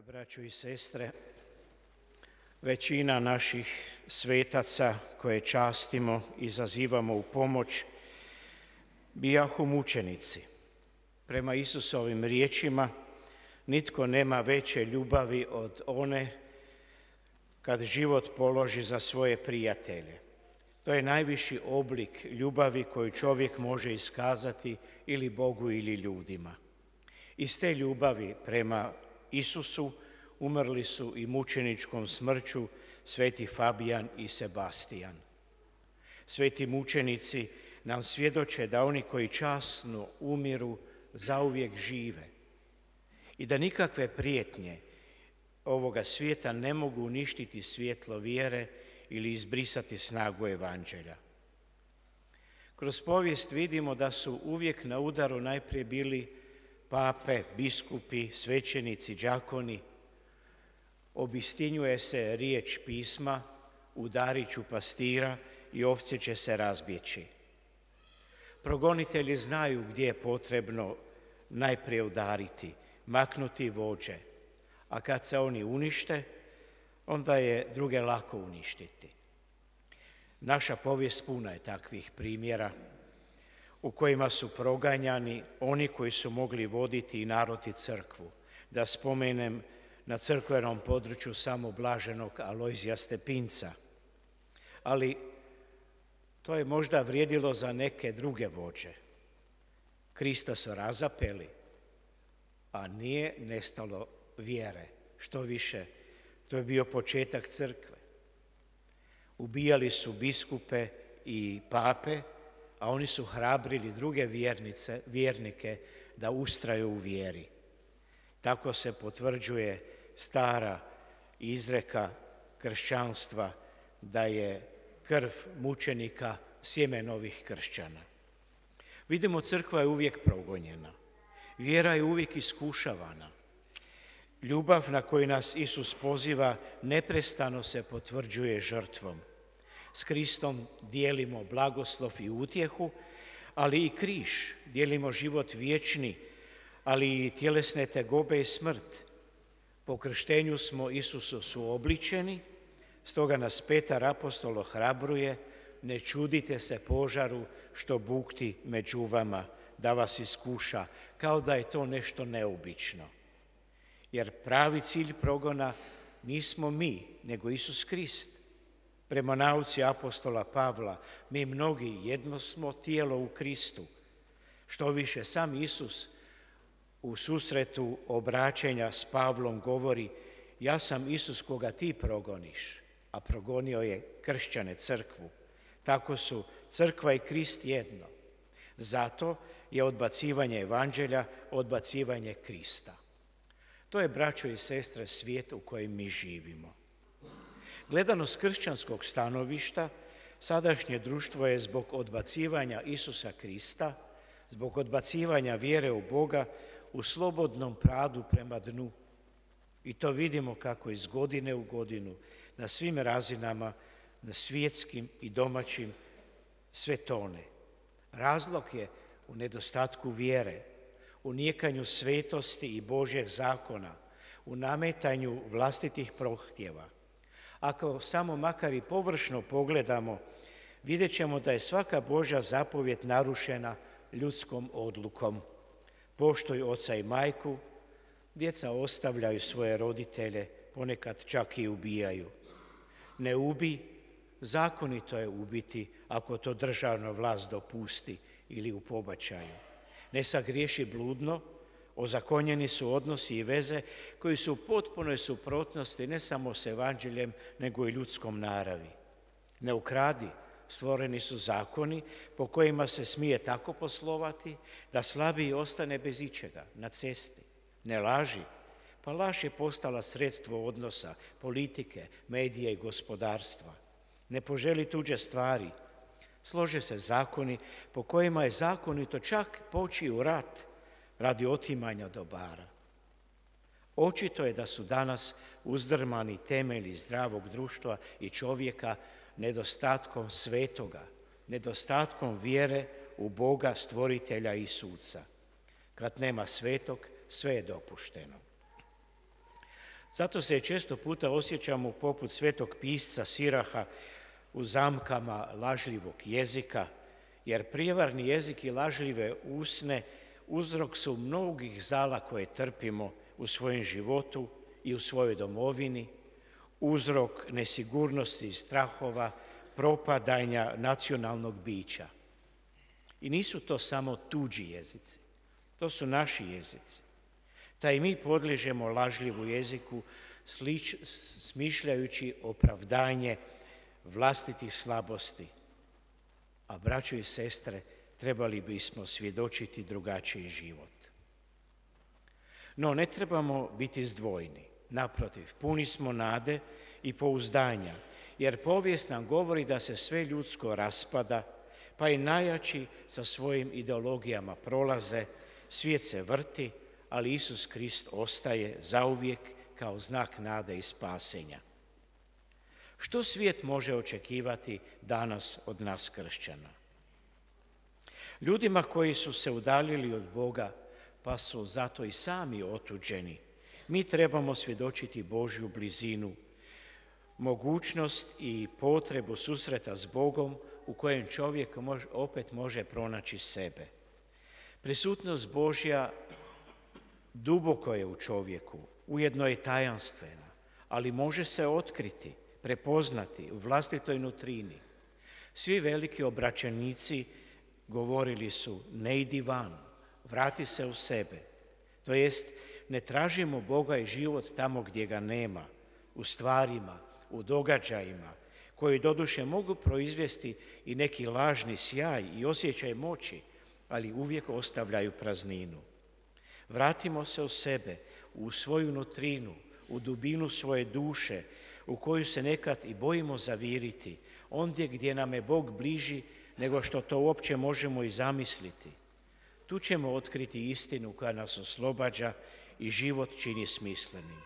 Braćo i sestre, većina naših svetaca koje častimo i zazivamo u pomoć bijahu mučenici. Prema Isusovim riječima, nitko nema veće ljubavi od one kad život položi za svoje prijatelje. To je najviši oblik ljubavi koju čovjek može iskazati ili Bogu ili ljudima. Iz te ljubavi prema Isusu umrli su i mučeničkom smrću sveti Fabijan i Sebastijan. Sveti mučenici nam svjedoče da oni koji časno umiru zauvijek žive i da nikakve prijetnje ovoga svijeta ne mogu uništiti svjetlo vjere ili izbrisati snagu evanđelja. Kroz povijest vidimo da su uvijek na udaru najprije bili pape, biskupi, svećenici, đakoni. Obistinjuje se riječ pisma, udarit ću pastira i ovce će se razbjeći. Progonitelji znaju gdje je potrebno najprije udariti, maknuti vođe, a kad se oni unište, onda je druge lako uništiti. Naša povijest puna je takvih primjera u kojima su proganjani oni koji su mogli voditi i narod i crkvu. Da spomenem na crkvenom području samo blaženog Alojzija Stepinca. Ali to je možda vrijedilo za neke druge vođe. Krista su razapeli, a nije nestalo vjere. Što više, to je bio početak crkve. Ubijali su biskupe i pape, a oni su hrabrili druge vjernike da ustraju u vjeri. Tako se potvrđuje stara izreka kršćanstva da je krv mučenika sjeme novih kršćana. Vidimo, crkva je uvijek progonjena, vjera je uvijek iskušavana. Ljubav na koju nas Isus poziva neprestano se potvrđuje žrtvom. S Kristom dijelimo blagoslov i utjehu, ali i križ, dijelimo život vječni, ali i tjelesne tegobe i smrt. Po krštenju smo Isusu suobličeni, stoga nas Petar apostol ohrabruje: ne čudite se požaru što bukti među vama, da vas iskuša, kao da je to nešto neobično. Jer pravi cilj progona nismo mi, nego Isus Krist. Prema nauci apostola Pavla, mi mnogi jedno smo tijelo u Kristu. Što više, sam Isus u susretu obraćenja s Pavlom govori: ja sam Isus koga ti progoniš, a progonio je kršćane, crkvu. Tako su crkva i Krist jedno. Zato je odbacivanje evanđelja odbacivanje Krista. To je, braćo i sestre, svijet u kojem mi živimo. Gledano s kršćanskog stanovišta, sadašnje društvo je zbog odbacivanja Isusa Krista, zbog odbacivanja vjere u Boga, u slobodnom padu prema dnu. I to vidimo kako iz godine u godinu na svim razinama, na svjetskim i domaćim, sve tone. Razlog je u nedostatku vjere, u nijekanju svetosti i Božjeg zakona, u nametanju vlastitih prohtjeva. Ako samo makar i površno pogledamo, vidjet ćemo da je svaka Božja zapovjed narušena ljudskom odlukom. Poštuj oca i majku, djeca ostavljaju svoje roditelje, ponekad čak i ubijaju. Ne ubij, zakonito je ubiti ako to državna vlast dopusti ili u pobačaju. Ne sagriješi bludno, Ozakonjeni su odnosi i veze koji su u potpunoj suprotnosti ne samo s evanđeljem, nego i ljudskom naravi. Ne ukradi, stvoreni su zakoni po kojima se smije tako poslovati da slabiji ostane bez ičega na cesti. Ne laži, pa laž je postala sredstvo odnosa, politike, medija i gospodarstva. Ne poželi tuđe stvari, slože se zakoni po kojima je zakonito čak poći u rat radi otimanja dobara. Očito je da su danas uzdrmani temelji zdravog društva i čovjeka nedostatkom svetoga, nedostatkom vjere u Boga, stvoritelja i suca. Kad nema svetog, sve je dopušteno. Zato se često puta osjećamo poput svetog pisca Siraha u zamkama lažljivog jezika, jer prijevarni jezik i lažljive usne uzrok su mnogih zala koje trpimo u svojem životu i u svojoj domovini, uzrok nesigurnosti i strahova, propadanja nacionalnog bića. I nisu to samo tuđi jezici, to su naši jezici. Taj mi podliježemo lažljivu jeziku smišljajući opravdanje vlastitih slabosti. A braćo i sestre, trebali bismo svjedočiti drugačiji život. No, ne trebamo biti zdvojni. Naprotiv, puni smo nade i pouzdanja, jer povijest nam govori da se sve ljudsko raspada, pa i najjači sa svojim ideologijama prolaze, svijet se vrti, ali Isus Krist ostaje zauvijek kao znak nade i spasenja. Što svijet može očekivati danas od nas kršćana? Ljudima koji su se udaljili od Boga, pa su zato i sami otuđeni, mi trebamo svjedočiti Božju blizinu, mogućnost i potrebu susreta s Bogom u kojem čovjek opet može pronaći sebe. Prisutnost Božja duboko je u čovjeku, ujedno je tajanstvena, ali može se otkriti, prepoznati u vlastitoj nutrini. Svi veliki obraćenici govorili su: ne idi van, vrati se u sebe. To jest, ne tražimo Boga i život tamo gdje ga nema, u stvarima, u događajima, koji doduše mogu proizvesti i neki lažni sjaj i osjećaj moći, ali uvijek ostavljaju prazninu. Vratimo se u sebe, u svoju nutrinu, u dubinu svoje duše, u koju se nekad i bojimo zaviriti, ondje gdje nam je Bog bliži nego što to uopće možemo i zamisliti. Tu ćemo otkriti istinu koja nas oslobađa i život čini smislenim.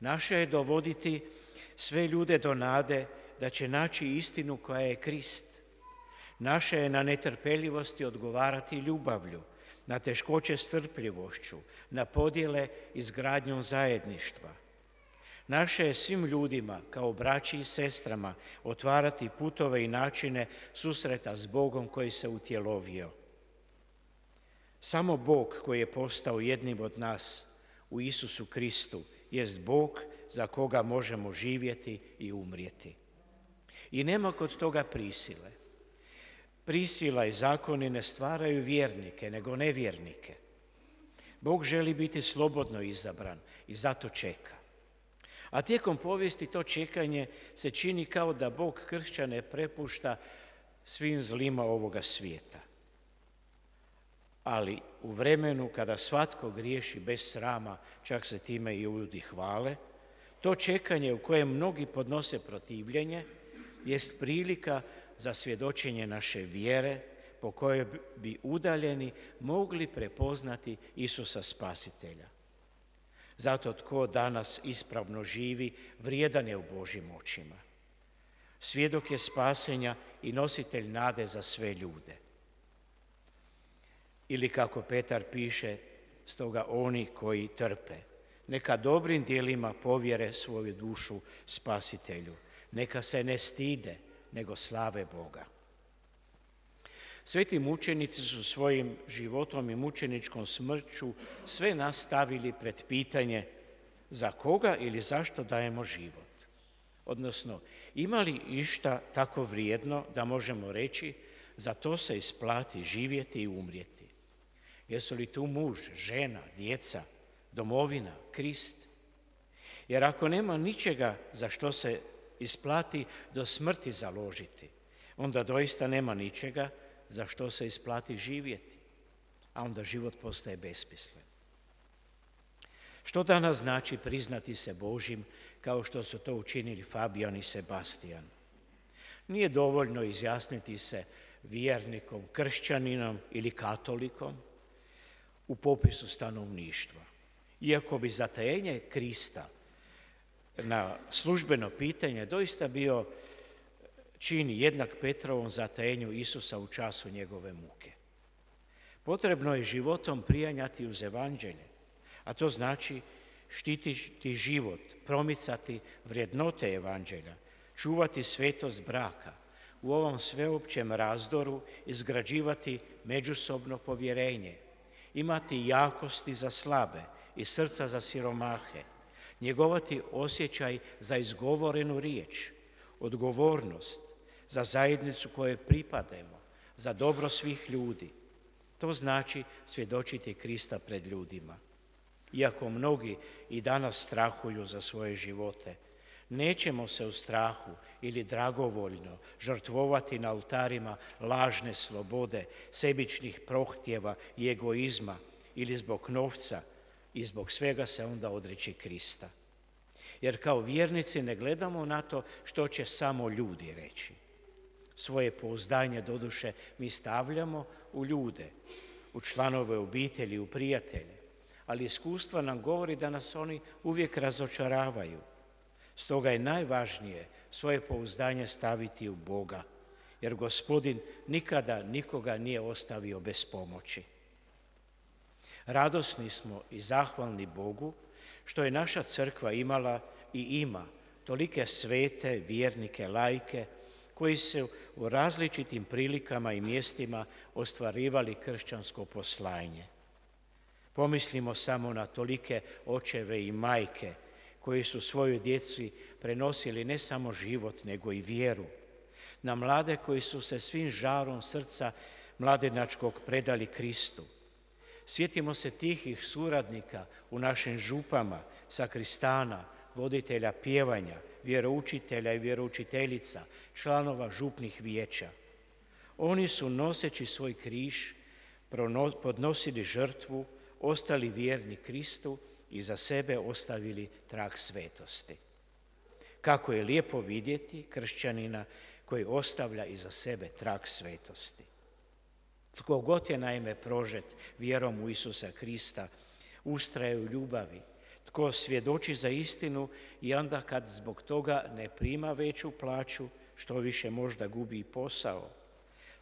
Naše je dovoditi sve ljude do nade da će naći istinu koja je Krist. Naše je na netrpeljivosti odgovarati ljubavlju, na teškoće strpljivošću, na podjele izgradnjom zajedništva. Naše je svim ljudima, kao braći i sestrama, otvarati putove i načine susreta s Bogom koji se utjelovio. Samo Bog koji je postao jednim od nas u Isusu Kristu jest Bog za koga možemo živjeti i umrijeti. I nema kod toga prisile. Prisila i zakoni ne stvaraju vjernike, nego nevjernike. Bog želi biti slobodno izabran i zato čeka. A tijekom povijesti to čekanje se čini kao da Bog kršćane prepušta svim zlima ovoga svijeta. Ali u vremenu kada svatko griješi bez srama, čak se time i ljudi hvale, to čekanje u kojem mnogi podnose protivljenje jest prilika za svjedočenje naše vjere po kojoj bi udaljeni mogli prepoznati Isusa Spasitelja. Zato tko danas ispravno živi, vrijedan je u Božjim očima. Svjedok je spasenja i nositelj nade za sve ljude. Ili kako Petar piše, stoga oni koji trpe, neka dobrim djelima povjere svoju dušu Spasitelju. Neka se ne stide, nego slave Boga. Sveti mučenici su svojim životom i mučeničkom smrću sve nas stavili pred pitanje za koga ili zašto dajemo život. Odnosno, ima li išta tako vrijedno da možemo reći za to se isplati živjeti i umrijeti. Jesu li tu muž, žena, djeca, domovina, Krist? Jer ako nema ničega za što se isplati do smrti založiti, onda doista nema ničega za što se isplati živjeti, a onda život postaje besmislen. Što danas znači priznati se Božjim kao što su to učinili Fabijan i Sebastijan? Nije dovoljno izjasniti se vjernikom, kršćaninom ili katolikom u popisu stanovništva. Iako bi zatajenje Krista na službeno pitanje doista bio čin jednak Petrovom zatajenju Isusa u času njegove muke. Potrebno je životom prijanjati uz evanđelje, a to znači štititi život, promicati vrijednote evanđelja, čuvati svetost braka, u ovom sveopćem razdoru izgrađivati međusobno povjerenje, imati jakosti za slabe i srca za siromahe, njegovati osjećaj za izgovorenu riječ, odgovornost za zajednicu kojoj pripadamo, za dobro svih ljudi. To znači svjedočiti Krista pred ljudima. Iako mnogi i danas strahuju za svoje živote, nećemo se u strahu ili dragovoljno žrtvovati na oltarima lažne slobode, sebičnih prohtjeva i egoizma ili zbog novca i zbog svega se onda odreći Krista. Jer kao vjernici ne gledamo na to što će samo ljudi reći. Svoje pouzdanje doduše mi stavljamo u ljude, u članove obitelji, u prijatelje, ali iskustva nam govori da nas oni uvijek razočaravaju. Stoga je najvažnije svoje pouzdanje staviti u Boga, jer Gospodin nikada nikoga nije ostavio bez pomoći. Radosni smo i zahvalni Bogu što je naša crkva imala i ima tolike svete, vjernike, laike, koji su u različitim prilikama i mjestima ostvarivali kršćansko poslanje. Pomislimo samo na tolike očeve i majke koji su svojoj djeci prenosili ne samo život, nego i vjeru. Na mlade koji su se svim žarom srca mladenačkog predali Kristu. Sjetimo se tihih suradnika u našim župama, sakristana, voditelja pjevanja, vjeroučitelja i vjeroučiteljica, članova župnih vijeća. Oni su noseći svoj križ, podnosili žrtvu, ostali vjerni Kristu i za sebe ostavili trag svetosti. Kako je lijepo vidjeti kršćanina koji ostavlja iza sebe trag svetosti. Tko god je naime prožet vjerom u Isusa Krista, ustraje u ljubavi, tko svjedoči za istinu i onda kad zbog toga ne prima veću plaću, što više možda gubi i posao,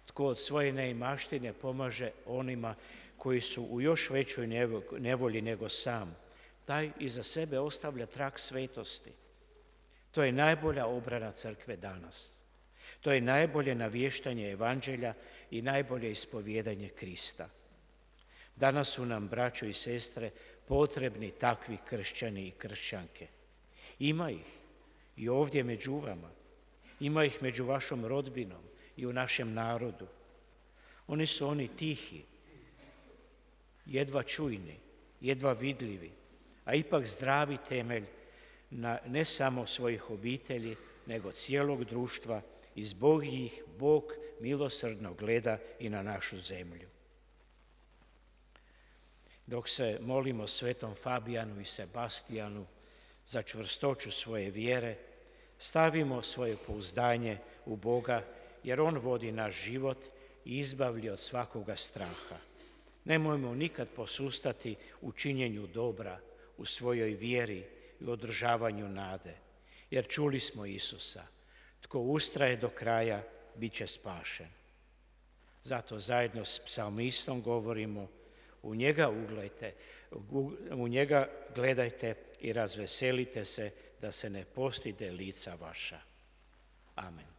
tko od svoje neimaštine pomaže onima koji su u još većoj nevolji nego sam, taj iza sebe ostavlja trag svetosti. To je najbolja obrana crkve danas. To je najbolje navještanje evanđelja i najbolje ispovijedanje Krista. Danas su nam, braćo i sestre, potrebni takvi kršćani i kršćanke. Ima ih i ovdje među vama. Ima ih među vašom rodbinom i u našem narodu. Oni su oni tihi, jedva čujni, jedva vidljivi, a ipak zdravi temelj na ne samo svojih obitelji, nego cijelog društva i zbog njih Bog milosrdno gleda i na našu zemlju. Dok se molimo svetom Fabijanu i Sebastijanu za čvrstoću svoje vjere, stavimo svoje pouzdanje u Boga, jer On vodi naš život i izbavlja od svakoga straha. Nemojmo nikad posustati u činjenju dobra, u svojoj vjeri i održavanju nade, jer čuli smo Isusa, tko ustraje do kraja, bit će spašen. Zato zajedno s psalmistom govorimo, u njega gledajte i razveselite se da se ne postide lica vaša. Amen.